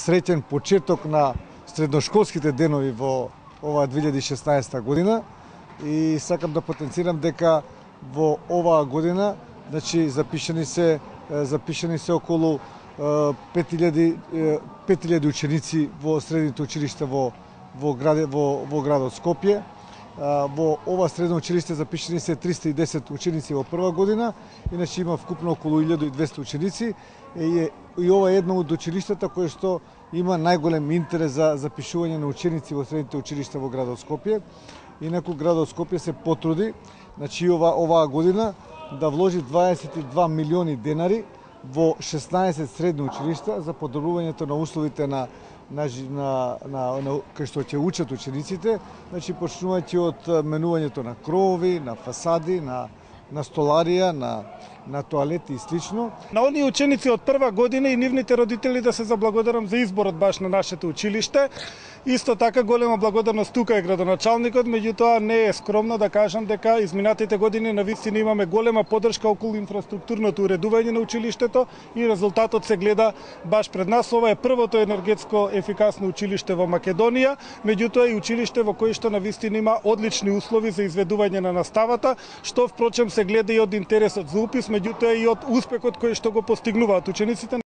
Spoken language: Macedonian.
среќен почеток на средношколските денови во оваа 2016 година и сакам да потенцирам дека во оваа година запишани се околу 5000 ученици во средните училишта во градот Скопје. Во ова средно училиште запишани се 310 ученици во прва година, иначе има вкупно околу 1200 ученици и ова е едно од училиштата кое што има најголем интерес за запишување на ученици во средните училишта во градот Скопје. Инаку градот Скопје се потруди, оваа година да вложи 22 милиони денари во 16 средни училишта за подобрувањето на условите кај што ќе учат учениците, почнувајќи од менувањето на кровови, на фасади, на столарија, на тоалети и слично. На оние ученици од прва година и нивните родители да се заблагодарам за изборот баш на нашето училиште. Исто така голема благодарност тука е градоначалникот, меѓутоа не е скромно да кажам дека изминатите години навистина имаме голема поддршка околу инфраструктурното уредување на училиштето и резултатот се гледа баш пред нас. Ова е првото енергетско ефикасно училиште во Македонија, меѓутоа и училиште во кое што навистина има одлични услови за изведување на наставата, што впрочем се гледа и од интересот за упис, меѓутоа и од успехот кој што го постигнуваат учениците.